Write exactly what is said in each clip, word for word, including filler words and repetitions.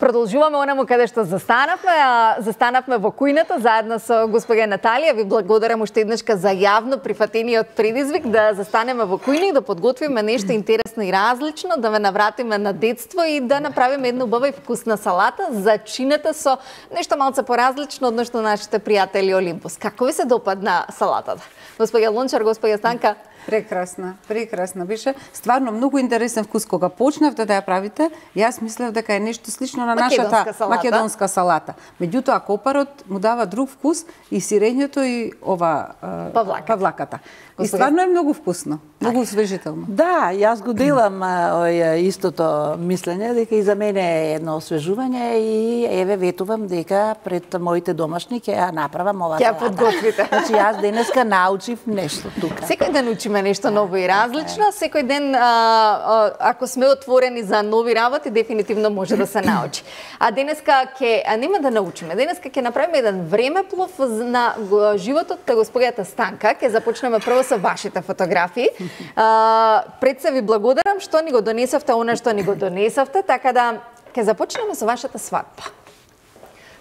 Продолжуваме онаму каде што застанавме, а застанавме во кујната заедно со госпожа Наталија. Ви благодарам уште еднашка за јавно прифатениот предизвик да застанеме во кујна и да подготвиме нешто интересно и различно, да ве навратиме на детство и да направиме една убава и вкусна салата, зачината со нешто малце поразлично односно нашите пријатели Олимпус. Како ви се допадна салатата? Госпожа Лончар, госпожа Станка? Прекрасна, прекрасна беше. Стварно многу интересен вкус кога почнавте да ја правите. Јас мислев дека е нешто слично на нашата салата. македонска салата. Меѓутоа копарот му дава друг вкус и сирењето и ова Павлака. павлаката. И стварно е многу вкусно, многу освежително. Да, јас го делам ој, истото мислење дека и за мене е едно освежување и еве ветувам дека пред моите домашни ќе ја направам ова Ќе ја салата. подготвите. Значи јас денеска научив нешто тука. Секој ден учиме нешто ново и различно, секој ден а, а, ако сме отворени за нови работи, дефинитивно може да се научи. А денеска ќе а нема да научиме, денеска ќе направиме еден времеплов на го- животот на господјата Станка. Ќе започнеме прво со вашите фотографии. А, пред се ви благодарам што ни го донесовте она што ни го донесовте, така да ќе започнеме со вашата свадба.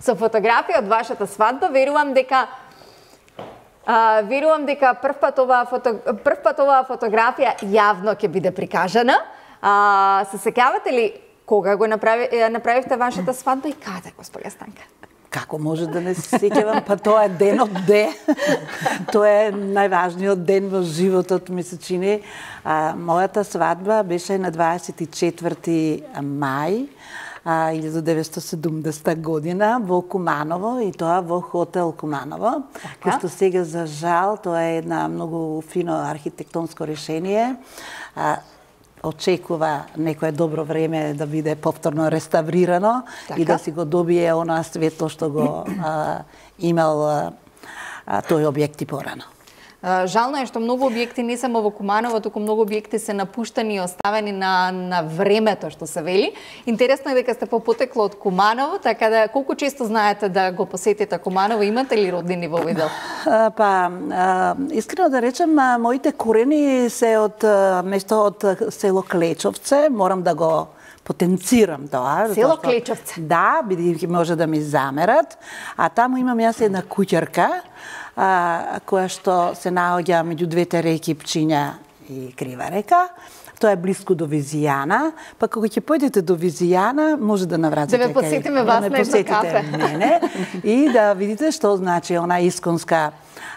Со фотографија од вашата свадба, верувам дека А, верувам дека прв пат оваа фото, прв пат оваа фотографија јавно ќе биде прикажана. А, се сеќавате ли кога го направи, ја направивте вашата свадба и каде, господја Станка? Како може да не се сеќавам, па тоа е денот де. Тоа е најважниот ден во животот, ми се чини. А, мојата свадба беше на дваесет и четврти мај илјадум деветстотини и седумдесета година во Куманово и тоа во хотел Куманово, кој што сега за жал тоа е една многу фино архитектонско решение. А, очекува некое добро време да биде повторно реставрирано така? И да си го добие она светло што го а, имал а, тој објект и порано. Жално е што многу објекти не само во Куманово, туку многу објекти се напуштани и оставени на, на времето, што се вели. Интересно е дека сте по потекло од Куманово, така да колку често знаете да го посетите Куманово, имате ли роднини во Видел? А, па, а, искрено да речем, а, моите корени се од а, место од село Клечовце, морам да го потенцирам тоа. Село Клечовце? Да, бидејќи може да ми замерат. А таму имам јас една куќарка, а, која што се наоѓа меѓу двете реки Пчиња и Крива река. Тоа е блиску до Визијана, па кога ќе појдете до Визијана, може да навратите да ме посетиме вас да на едно кафе. мене и да видите што значи она исконска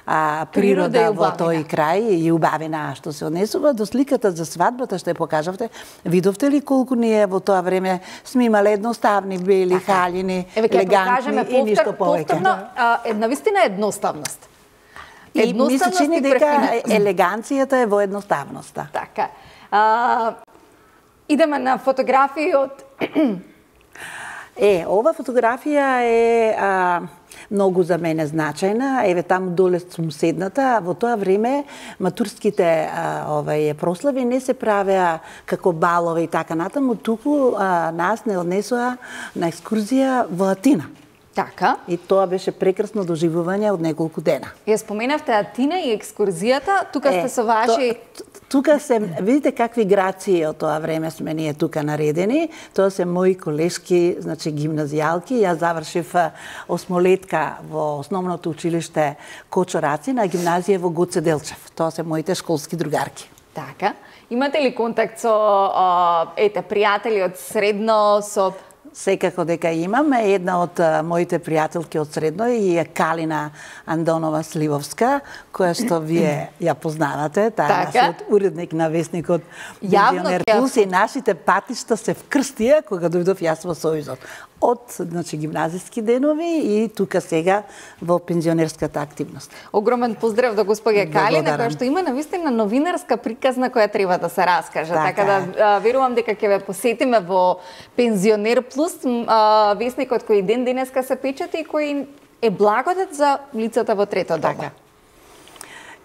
а, природа, природа во тој крај и убавина што се однесува до сликата за свадбата што ја покажавте. Видовте ли колку ние во тоа време сме имале едноставни бели халини, елегантни и ништо повеќе. Повторно, а, една вистина едноставност. И ми се чини дека елеганцијата е во едноставноста. Така. А, идеме на фотографии од Е, ова фотографија е а, многу за мене значајна. Еве таму доле сум седната. Во тоа време матурските а, овај прослави не се правеа како балови и така натаму, туку а, нас не однесоа на екскурзија во Атина. Така. И тоа беше прекрасно доживување од неколку дена. Ја споменавте Атина и екскурзијата, тука сте со ваши... То, тука се, видите какви грации од тоа време сме ние тука наредени. Тоа се мои колешки, значи гимназијалки. Јас завршив осмолетка во основното училиште Кочораци на гимназија во Гоце Делчев. Тоа се моите школски другарки. Така. Имате ли контакт со а, ете пријатели од средно, со Секако дека имам. Една од а, моите пријателки од средно и е Калина Андонова Сливовска, која што вие ја познавате. Таа е нашиот уредник на весникот Пензионер Плюс и нашите патишта се вкрстија кога дојдов јас во Сојузот. Од значи гимназиски денови и тука сега во пензионерската активност. Огромен поздрав до господја Калина, која што има навистина новинарска приказна која треба да се раскаже. Така, така да а, верувам дека ќе ве посетиме во Пензионер Плюс, а, весникот кој ден денеска се печати и кој е благодат за лицата во трето доба. Така.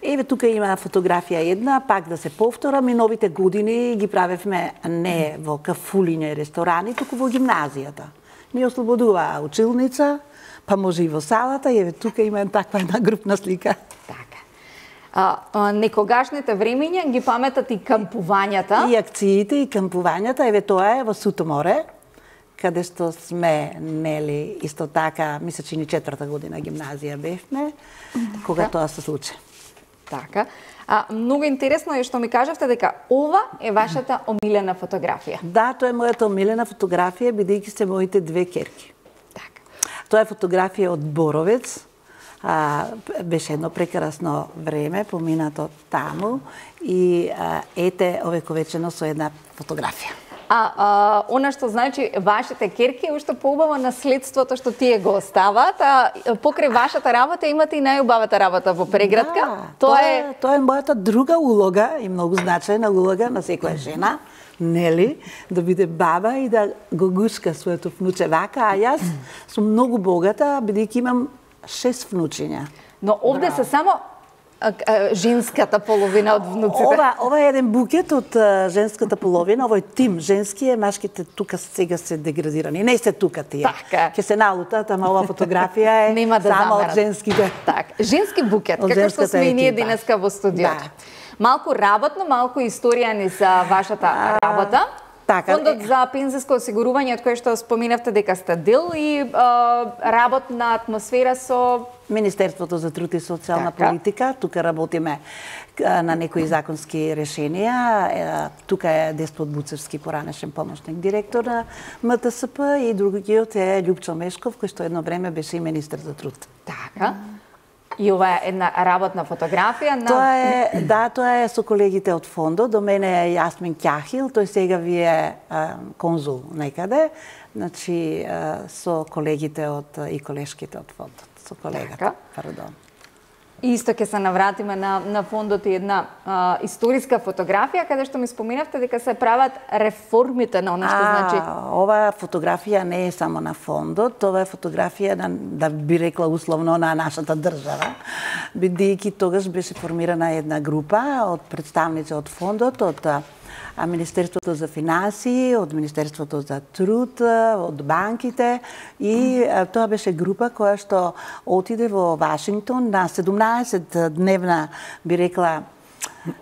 Еве тука има фотографија една, пак да се повторам, и новите години ги правевме не во кафулиња и ресторани, туку во гимназијата. Ни ослободуваа училница, па може и во салата, и еве тука има таква една групна слика. Така. А, а, некогашните времења ги паметат и кампувањата. И акциите, и кампувањата, еве тоа е во Суто море, каде што сме, нели, исто така, мисля, че ни четврта година гимназија бевме, кога тоа се случи. Така. А, многу интересно е што ми кажавте дека ова е вашата омилена фотографија. Да, тоа е мојата омилена фотографија, бидејќи се моите две керки. Така. Тоа е фотографија од Боровец. А, беше едно прекрасно време, поминато таму и а, ете овековечено со една фотографија. А, а она што значи вашите керки е уште поубаво наследството што тие го остават, а покрај вашата работа имате и најубавата работа во преградка. Да, тоа, тоа е тоа е мојата друга улога и многу значајна улога на секоја жена, нели, да биде баба и да го гушка своето внуче вака, а јас сум многу богата бидејќи имам шест внучиња. Но овде се само а, а, женската половина од внуците. Ова, ова е еден букет од а, женската половина, овој тим женски е, машките тука сега се деградирани. Не се тука тие. Така. Ке се налутат, ама ова фотографија е Нема да само замерат. од женските. Так, женски букет, Од како што женската сме и ние екипа. денеска во студиото. Да. Малку работно, малку историја ни за вашата работа. Така, Фондот за пензиско осигурување, од кој што споминавте дека сте дел и а, работна атмосфера со Министерството за труд и социјална Така. политика, тука работиме а, на некои законски решенија. Е, тука е Деспот Буцевски, поранешен помошник директор на М Т С П и другиот е Љупчо Мешков, кој што едно време беше и министер за труд. така. И ова е една работна фотографија на Тоа е, да, тоа е со колегите од фондот. До мене е Јасмин Ќахил, тој сега ви е а, конзул некаде. Значи, а, со колегите од и колешките од фондот, со колегата, Така. пардон. Исто ќе се навратиме на, на фондот и една а, историска фотографија, каде што ми споминавте дека се прават реформите на она што значи... А, ова фотографија не е само на фондот, ова е фотографија на, да би рекла условно, на нашата држава, бидејќи тогаш беше формирана една група од представници од фондот, од а Министерството за финансии, од Министерството за труд, од банките и а, тоа беше група која што отиде во Вашингтон на седумнаесет дневна, би рекла,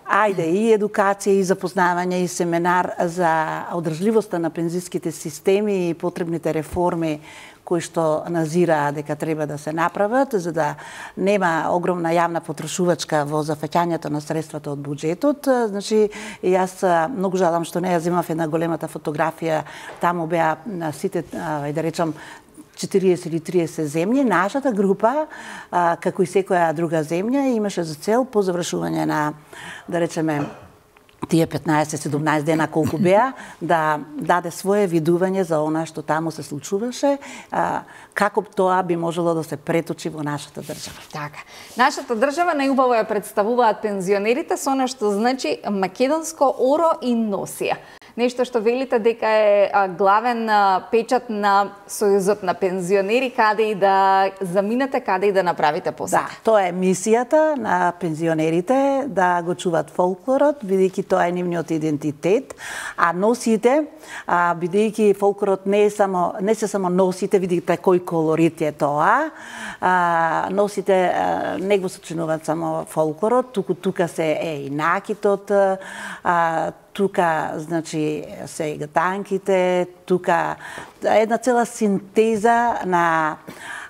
ајде, и едукација, и запознавање, и семинар за одржливоста на пензиските системи и потребните реформи кои што назира дека треба да се направат, за да нема огромна јавна потрошувачка во зафаќањето на средствата од буџетот. Значи, јас многу жалам што не ја земав една големата фотографија, таму беа на сите, ај да речам, четириесет или триесет земји. Нашата група, а, како и секоја друга земја, имаше за цел по завршување на, да речеме, тие петнаесет-седумнаесет дена колку беа, да даде свое видување за она што таму се случуваше, а, како тоа би можело да се преточи во нашата држава. Така. Нашата држава најубаво ја представуваат пензионерите со она што значи македонско оро и носија. Нешто што велите дека е а, главен а, печат на Сојузот на пензионери, каде и да заминете, каде и да направите посета. Да, тоа е мисијата на пензионерите, да го чуваат фолклорот, бидејќи тоа е нивниот идентитет, а носите, а, бидејќи фолклорот не е само не се само носите, видите кој колорит е тоа, а, носите а, не го сочинуваат само фолклорот, туку тука се е и накитот, а, тука, значи, се и гатанките, тука една цела синтеза на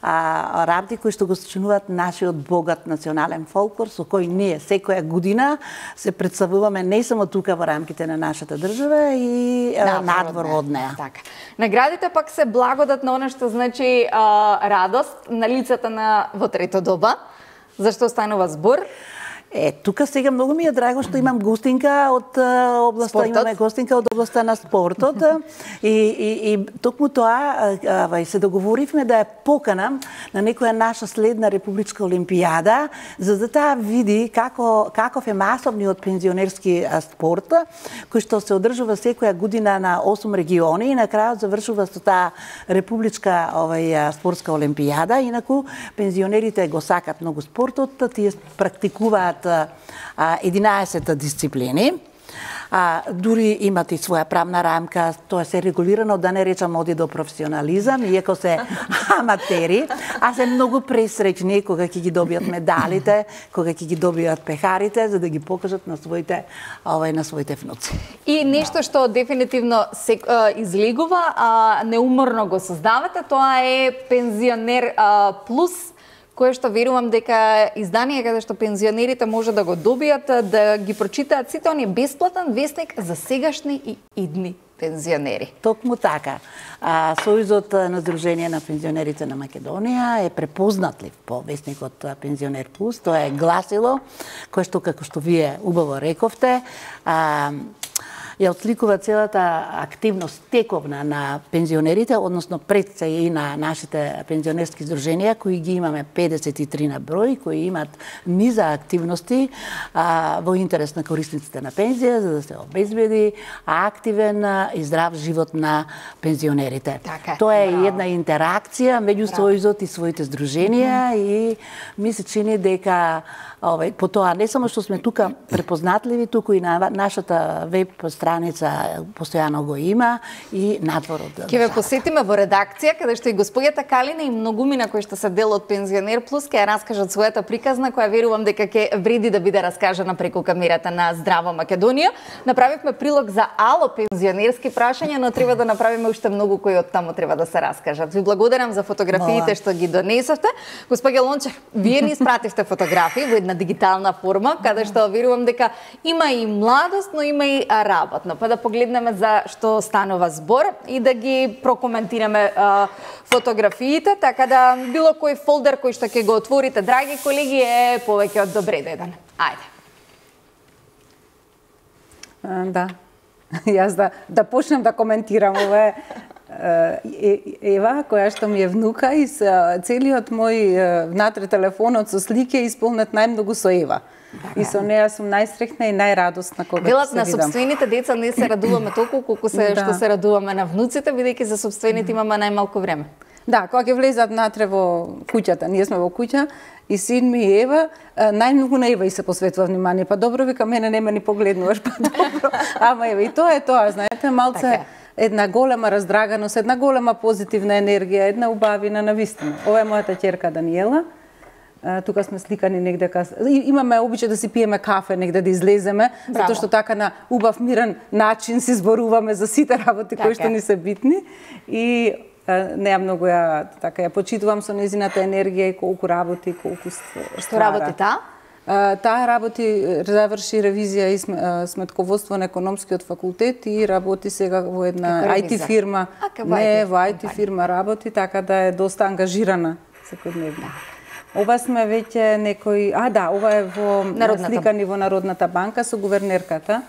а, работи кои што го сочинуваат нашиот богат национален фолклор, со кој ние секоја година се представуваме не само тука во рамките на нашата држава и а, надвор од неа. Така. Наградите пак се благодат на она што значи а, радост на лицата на во трето доба. Зашто станува збор? Е, тука сега многу ми е драго што имам гостинка од а, областа, Спортот? имаме гостинка од областа на спортот и, и, и токму тоа а, се договоривме да ја поканам на некоја наша следна републичка олимпијада, за да таа види како, каков е масовниот пензионерски а, спорт, кој што се одржува секоја година на осум региони и на крајот завршува со таа републичка овај спортска олимпијада. Инаку пензионерите го сакат многу спортот, тие практикуваат единаесет дисциплини. а, дури имат и своја правна рамка, тоа се регулирано, да не речам оди до професионализам, иако се аматери, а се многу пресреќни кога ќе ги добијат медалите, кога ќе ги добијат пехарите, за да ги покажат на своите, овај, на своите внуци. И нешто што дефинитивно се а, излегува, а неуморно го создавате, тоа е пензионер а, плюс, кое што верувам дека издание каде што пензионерите може да го добијат, да ги прочитаат сите оние бесплатен весник за сегашни и идни пензионери. Токму така. А, Сојузот на Сдружение на пензионерите на Македонија е препознатлив по весникот Пензионер плюс. Тоа е гласило кое што, како што вие убаво рековте, а, ја отсликува целата активност тековна на пензионерите, односно пред се и на нашите пензионерски здруженија, кои ги имаме педесет и три на број, кои имат низа активности а, во интерес на корисниците на пензија, за да се обезбеди активен и здрав живот на пензионерите. Така, Тоа е браво. една интеракција меѓу Сојузот и своите здруженија, mm -hmm. и ми се чини дека овај, по тоа не само што сме тука препознатливи, туку и на нашата веб страница постојано го има и надвор од. Ќе ве посетиме во редакција, каде што и господјата Калина и многумина кои што се дел од Пензионер плюс ќе ја раскажат својата приказна, која верувам дека ќе вреди да биде раскажана преку камерата на Здраво Македонија. Направивме прилог за ало пензионерски прашања, но треба да направиме уште многу кои од таму треба да се раскажат. Ви благодарам за фотографиите што ги донесовте. Господја Лончев, вие ни испративте фотографии во една дигитална форма, каде што верувам дека има и младост, но има и работно. Па да погледнеме за што станува збор и да ги прокоментираме а, фотографиите, така да било кој фолдер кој што ќе го отворите, драги колеги, е повеќе од добре деден. Ајде. А, да. Јас да, да почнем да коментирам ова Ева, која што ми е внука и со целиот мој внатре телефонот со слики е исполнет најмногу со Ева. И со неја сум најсреќна и најрадосна кога Велат се на видам. собствените деца не се радуваме толку колку се Да. што се радуваме на внуците, бидејќи за собствените имаме најмалку време. Да, кога ќе влезат натре во куќата, ние сме во куќа и син ми и Ева, најмногу на Ева и се посветува внимание. Па добро, вика, мене не ме ни погледнуваш, па добро. Ама Ева, и тоа е тоа, знаете, малце Така е. една голема раздраганост, една голема позитивна енергија, една убавина на вистина. Ова е мојата ќерка Даниела. А, тука сме сликани негде кас... Имаме обичај да си пиеме кафе негде да излеземе, Браво. затоа што така на убав мирен начин си зборуваме за сите работи Така кои што е. ни се битни. И неа многу ја така ја почитувам со незината енергија и колку работи, колку ствара. Што работи таа? А, таа работи, заврши ревизија и см- сметководство на економскиот факултет и работи сега во една Како ай ти ревизор? фирма. А, како Не, ай ти во ай ти компанија. фирма работи, така да е доста ангажирана секојдневно. Ова сме веќе некој... А, да, ова е во Народната. сликани во Народната банка со гувернерката.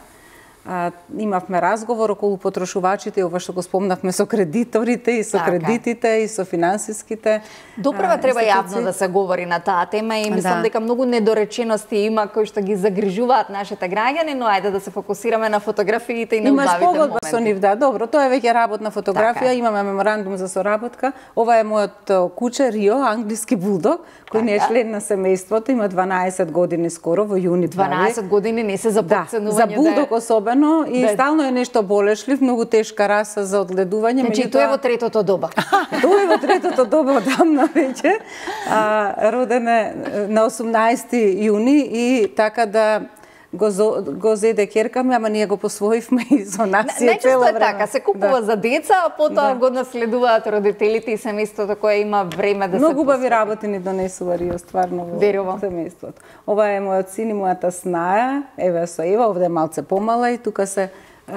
А, имавме разговор околу потрошувачите, ова што го спомнавме со кредиторите и со Така. кредитите и со финансиските. Доправа а, треба јавно институции. да се говори на таа тема и мислам Да. дека многу недоречености има кои што ги загрижуваат нашите граѓани, но ајде да се фокусираме на фотографиите и на Имаш убавите погодба со моменти. нив, да, добро, тоа е веќе работна фотографија, Така е. имаме меморандум за соработка. Ова е мојот о, куче Рио, англиски булдог, кој не е Така. член на семејството, има дванаесет години скоро, во јуни прави. дванаесет години не се за Да, подценување. за булдог да е... особено и да е- стално е нешто болешлив, многу тешка раса за одгледување. Значи, меѓутоа- тоа е во третото доба. Тој е во третото доба одамна веќе. А, роден е на осумнаесети јуни и така да го, зо, го зеде ќерка ми, ама ние го посвоивме и со нас си е цело Најчесто е време. така, се купува Да. за деца, а потоа Да. го наследуваат родителите и семејството кое има време да се Многу убави посвети. работи ни донесува Рио, стварно во Верувам. семејството. Ова е мојот син и мојата снаја, еве со Ева, овде е малце помала и тука се а,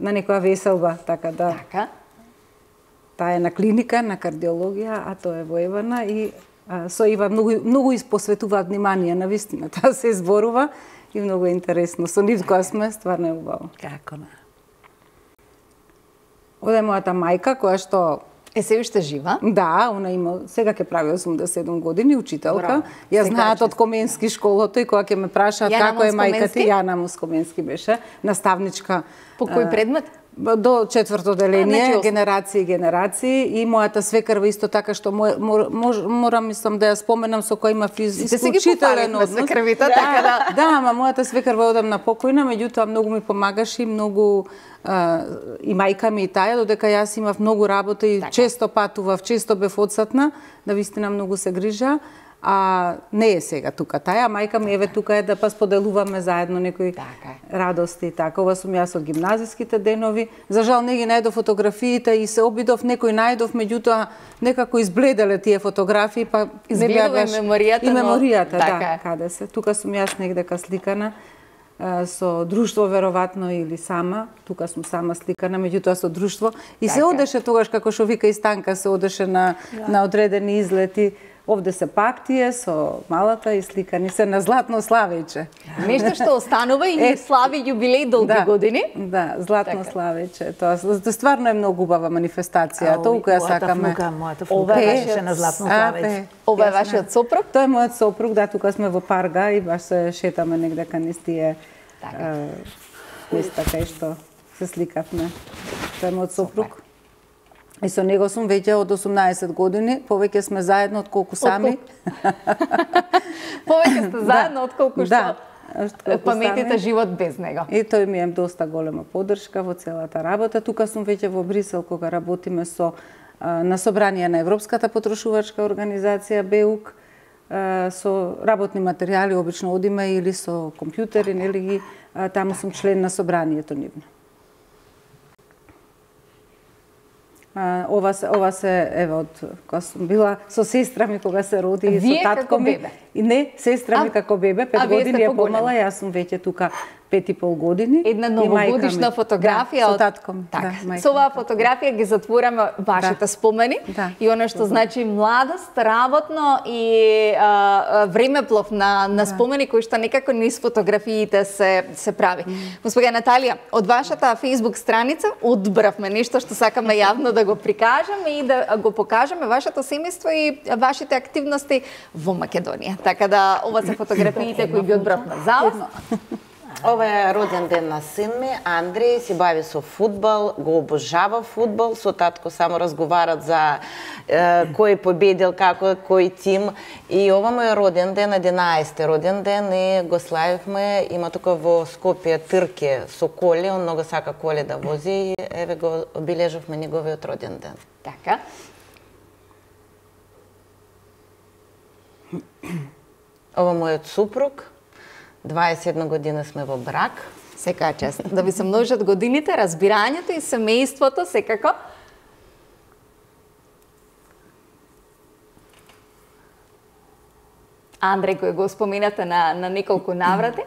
на некоја веселба, така да. Така. Таа е на клиника, на кардиологија, а тоа е во Евана и а, со Ива многу, многу испосветуваат внимание на вистина. Таа се зборува и многу е интересно. Со нив кога сме, стварно е убаво. Како на? Овде е мојата мајка, која што Е се уште жива. да, она има, сега ќе прави осумдесет и седум години, учителка. Браво. Ја Сега знаат честито. од Коменски школото и кога ќе ме прашаат Јана како е Москоменски? мајка ти, Јана Москоменски беше, наставничка. По кој а, предмет? До четврто деление, значи, генерации и генерации, и мојата свекрва исто така што мо, мор, морам мислам да ја споменам, со која има исклучителен однос. Свекрвите, така да. Да, ама мојата свекрва одамна покојна, меѓутоа многу ми помагаше и многу а, и мајка ми и таја, додека јас имав многу работа и така. Често патував, често бев одсатна, да вистина многу се грижа. А не е сега тука таја, мајка ми еве тука е да па споделуваме заедно некои така. Радости и така. Ова сум јас од гимназиските денови. За жал не ги најдов фотографиите и се обидов, некој најдов, меѓутоа некако избледеле тие фотографии, па не беа и меморијата. И меморијата, но... да, така. Каде се. Тука сум јас негдека сликана со друштво веројатно или сама. Тука сум сама сликана, меѓутоа со друштво. И така. Се одеше тогаш како што вика и Станка, се одеше на да. На одредени излети. Овде се пак тие со малата и сликани се на Златно Славејче. Нешто што останува и е, слави јубилеј долги да, години. Да, Златно така. Славејче. Тоа стварно е многу убава манифестација. Толку ја сакаме. Мојата внука беше на Златно Славејче. Ова е вашиот сопруг? Тоа е мојот сопруг, да, тука сме во Парга и баш се шетаме негдека низ тие места кај што се сликавме. Тоа е мојот сопруг. И со него сум веќе од осумнаесет години, повеќе сме заедно од колку сами. Повеќе сте заедно од колку што да, паметите живот без него. И тој ми е доста голема поддршка во целата работа. Тука сум веќе во Брисел кога работиме со на собрание на Европската потрошувачка организација БЕУК, со работни материјали обично одиме или со компјутери, нели ги таму сум член на собранието нивно. Ова се, ова се, еве, од кога сум била со сестра ми кога се роди и со татко ми. И не, сестра ми како бебе, пет години е помала, јас сум веќе тука пет и пол години. Една новогодишна фотографија да, од со татко ми. Так, да, со оваа фотографија ги затвораме вашите да. Спомени да. И она што значи младост, работно и а, времеплов на на спомени да. Кои што некако низ фотографиите се се прави. Mm. Госпоѓа Наталија, од вашата Facebook страница одбравме нешто што сакаме јавно да го прикажеме и да го покажеме вашето семејство и вашите активности во Македонија. Така да ова се фотографиите кои ги одбравме за вас. Ова е роден ден на син ми, Андреј, си бави со фудбал, го обожава фудбал, со татко само разговарат за е, кој победил, како, кој тим. И ова му е роден ден, единаесети роден ден и го славивме. Има тука во Скопје трке со коли, он много сака коли да вози и еве го обележавме неговиот роден ден. Така. Ова мојот супруг. дваесет и една година сме во брак. Секака чест. Да ви се множат годините, разбирањето и семејството, секако. Андреј, кој го споменате на, на неколку наврати,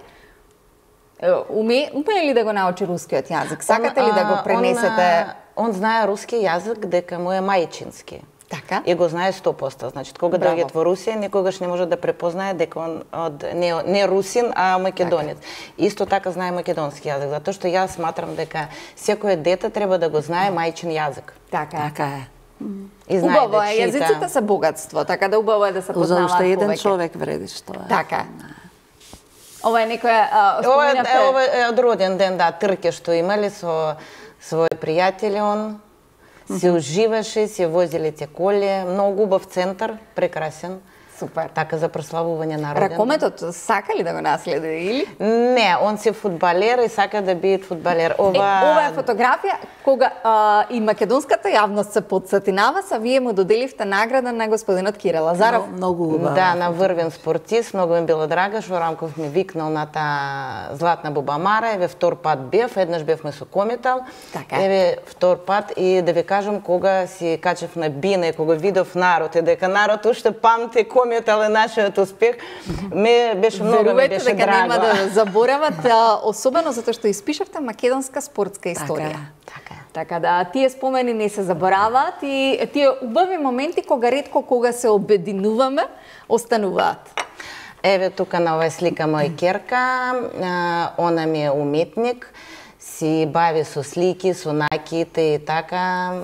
уме, уме ли да го научи рускиот јазик? Сакате ли да го пренесете? Он, он знае руски јазик дека му е мајчински. Така. И го знае сто проценти. Значи, кога доаѓа во Русија, никогаш не може да препознае дека он од не, не русин, а македонец. Така. Исто така знае македонски јазик, затоа што јас сматрам дека секое дете треба да го знае мајчин јазик. Така. Така е. И знае убаво да е, чита. Јазиците се богатство, така да убаво е да се познаваат повеќе. За уште еден човек вреди што е. Така. Ова е некоја Ова е, ова е од роден ден, да, трке што имале со своји пријатели, он се уживаше, се возиле те коли, многу убав центар, прекрасен. Супер. Така за прославување на роден. Ракометот сака ли да го наследи или? Не, он се фудбалер и сака да биде фудбалер. Ова е, ова е фотографија кога а, и македонската јавност се подсети на вас, а вие му доделивте награда на господинот Кире Лазаров. No, многу убава. Да, на врвен спортист, многу ми било драга, што Рамков ми викнал на таа Златна Бубамара, еве втор пат бев, еднаш бевме со Кометал. Така. Еве втор пат и да ви кажам кога си качев на бина и кога видов народ и дека народ уште памти Кометал е нашиот успех, ме беше многу ми беше дека драго. нема да заборават, особено затоа што испишавте македонска спортска историја. Така е. Така да, тие спомени не се забораваат и тие убави моменти кога ретко кога се обединуваме, остануваат. Еве тука на оваа слика моја керка, она ми е уметник. си бави со слики, со наките и така.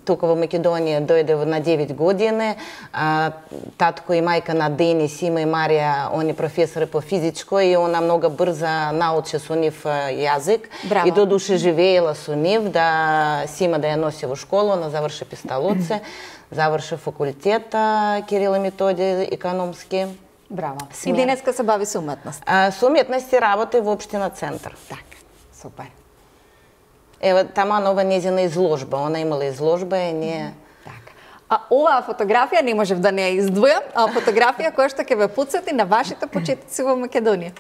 Тука во Македонија дојде на девет години. А, татко и мајка на Денис, Има и Марија, они професори по физичко и она многу брза научи со нив јазик. Браво. И додуше живеела со нив, да Сима да ја носи во школа, она заврши пистолоци, заврши факултет Кирил и Методи економски. Браво. Смер. И денеска се бави со уметност. А, со уметност и работи во општина Центар. Така, супер. Ева, тама нова незина изложба, она имала изложба и ние... Така. А оваа фотографија не можев да не ја издвојам, а фотографија која што ќе ве потсети на вашите почетоци во Македонија.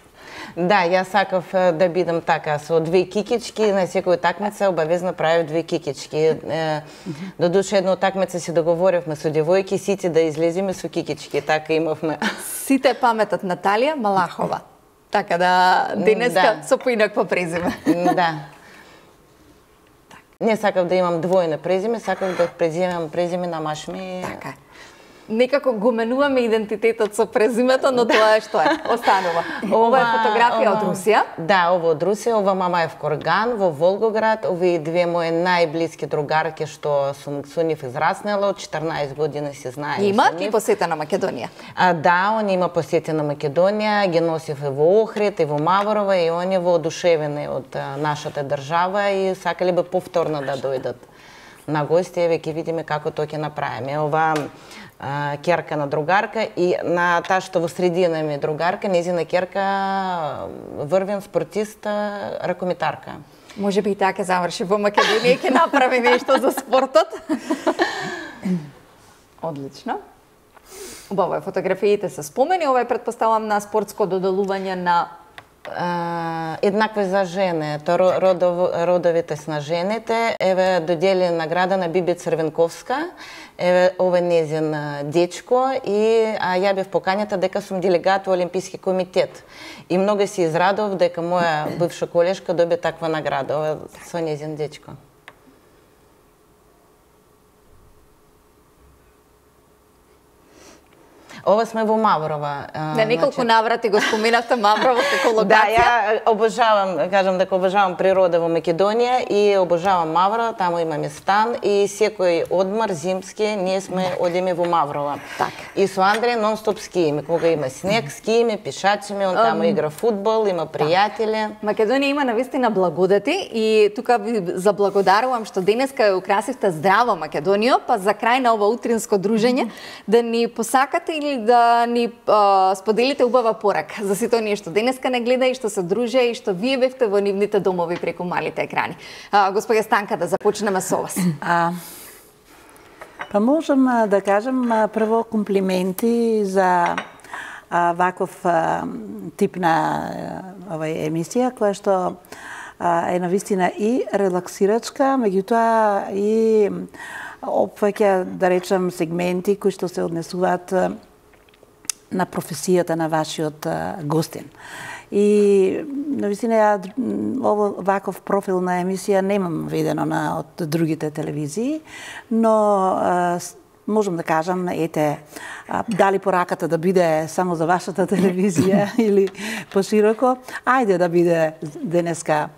Да, јас сакав да бидам така, со две кикички, на секоја такмица обавезно правев две кикички. Додуше една такмица се договоривме со девојки, сите да излеземе со кикички, така имавме. Сите паметат Наталија Малахова. Така да денеска Да. со поинакво презиме. Да. Не сакав да имам двојно презиме, сакав да преземам презиме на маш ми. Така. Некако го менуваме идентитетот со презимето, но тоа е што е, останува. Ова е фотографија од Русија. Да, ова од Русија, ова мама е в Корган, во Волгоград, овие две мои најблиски другарки што сум со нив израснала, од четрнаесет години се знаеме. Имаат ли посета на Македонија? А, да, они има посети на Македонија, ги носив и во Охрид, и во Маврова, и они воодушевени од а, нашата држава и сакале би повторно да дојдат на гости, еве ќе видиме како тоа ќе направиме. Ова а, керка на другарка и на таа што во средина ми е другарка, незина керка врвен спортист, ракометарка. Може би и така заврши во Македонија и ќе направи нешто за спортот. Одлично. Убаво е, фотографиите се спомени, ова е предпоставам на спортско доделување на Uh, еднакво за жене, то родов, родовите на жените. Еве додели награда на Биби Црвенковска. Еве ова незин дечко и а ја бев покањата дека сум делегат во Олимписки комитет. И многу се израдов дека моја бивша колешка доби таква награда, ова со незин дечко. Ова сме во Маврова. На неколку значи... наврати го споменавте Маврово како локација. Да, ја обожавам, кажам дека обожавам природа во Македонија и обожавам Маврова, таму имаме стан и секој одмор зимски ние сме одиме во Маврова. Так. И со Андреј нон-стоп скиеме, кога има снег, скиеме, пишачиме, он таму um... игра фудбал, има пријатели. Македонија има навистина благодати и тука ви заблагодарувам што денеска ја украсивте здраво Македонија, па за крај на ова утринско дружење да ни посакате или да ни а, споделите убава порака за сите оние што денеска не гледа и што се друже и што вие бевте во нивните домови преку малите екрани. А, господја Станка, да започнеме со вас. А, па можам да кажам прво комплименти за а, ваков а, тип на овај емисија, која што а, е навистина и релаксирачка, меѓутоа и опфаќа, да речам, сегменти кои што се однесуваат на професијата на вашиот гостин. И навистина ја ово ваков профил на емисија немам видено на од другите телевизии, но а, можам да кажам, ете, а, дали пораката да биде само за вашата телевизија или пошироко, ајде да биде денеска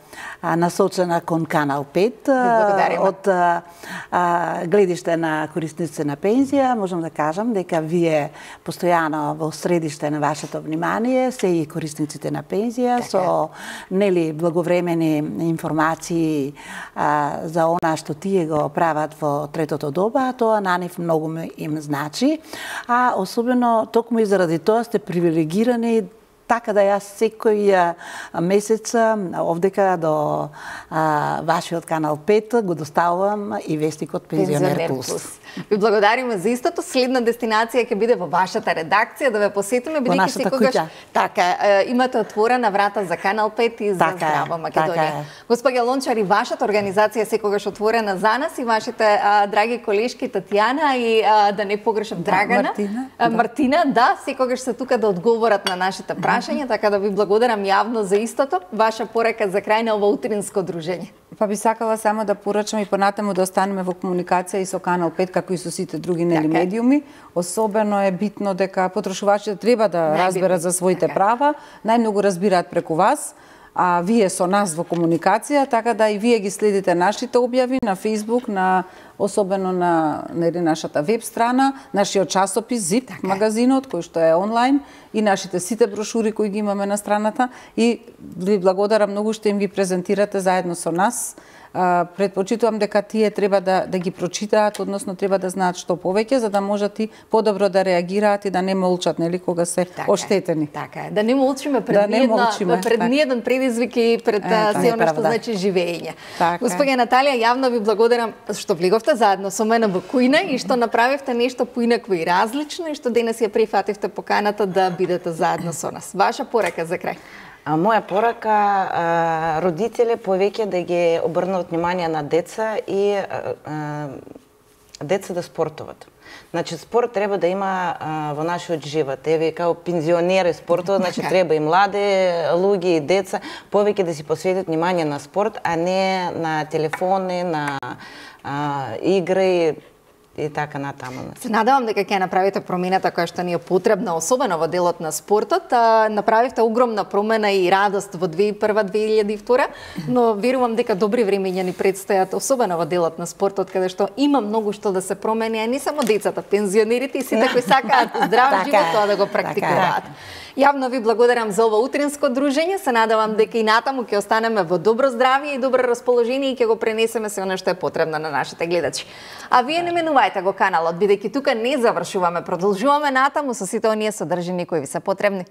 а, насочена кон Канал пет од а, а, гледиште на корисници на пензија. Можам да кажам дека вие постојано во средиште на вашето внимание се и корисниците на пензија така. Со нели благовремени информации а, за она што тие го прават во третото доба, тоа на нив многу им значи, а особено токму и заради тоа сте привилегирани така да јас секој месец овдека до а, вашиот Канал пет го доставувам и вестникот Пензионер Плюс. Ви благодариме за истото. Следна дестинација ќе биде во вашата редакција да ве посетиме, бидејќи секогаш така имате отворена врата за Канал пет и за така здрава Македонија. Така Господја Лончар, и вашата организација секогаш отворена за нас и вашите а, драги колешки Татјана и а, да не погрешам Драгана, Мартина, а, Мартина, да, секогаш се тука да одговорат на нашите прашања, така да ви благодарам јавно за истото. Ваша порака за крај на ова утринско дружење. Па би сакала само да порачам и понатаму да останеме во комуникација и со Канал пет, како и со сите други нели така медиуми. Особено е битно дека потрошувачите треба да Најбитно. разберат за своите така права. Најмногу разбираат преку вас. а вие со нас во комуникација, така да и вие ги следите нашите објави на Facebook, на особено на нели нашата веб страна, нашиот часопис Зип, така магазинот кој што е онлайн и нашите сите брошури кои ги имаме на страната и ви благодарам многу што им ги презентирате заедно со нас. Uh, предпочитувам дека тие треба да, да ги прочитаат, односно треба да знаат што повеќе, за да можат и подобро да реагираат и да не молчат, нели, кога се така оштетени. Така е, да не молчиме пред да ниедна, молчиме, пред така. ниеден предизвик и пред е, се она што значи живење. Така. Господја Наталија, јавно ви благодарам што влеговте заедно со мене во кујна и што направивте нешто поинакво и различно и што денес ја прифативте поканата да бидете заедно со нас. Ваша порака за крај. А моја порака, а, родители повеќе да ги обрнат внимание на деца и а, а, деца да спортуват. Значи, спорт треба да има а, во нашиот живот. Еве, као пензионери спортуват, значи треба и млади луѓе и деца повеќе да си посветат внимание на спорт, а не на телефони, на а, игри, и така натаму. Се надевам дека ќе направите промената која што ни е потребна, особено во делот на спортот. А, направивте огромна промена и радост во две илјади и прва - две илјади и втора, но верувам дека добри времења ни предстојат, особено во делот на спортот, каде што има многу што да се промени, а не само децата, пензионерите и сите кои сакаат здрав живот тоа да го практикуваат. Јавно ви благодарам за ова утринско дружење. Се надевам дека и натаму ќе останеме во добро здравје и добро расположение и ќе го пренесеме се она што е потребно на нашите гледачи. А вие не менувајте го каналот, бидејќи тука не завршуваме, продолжуваме натаму со сите оние содржини кои ви се потребни.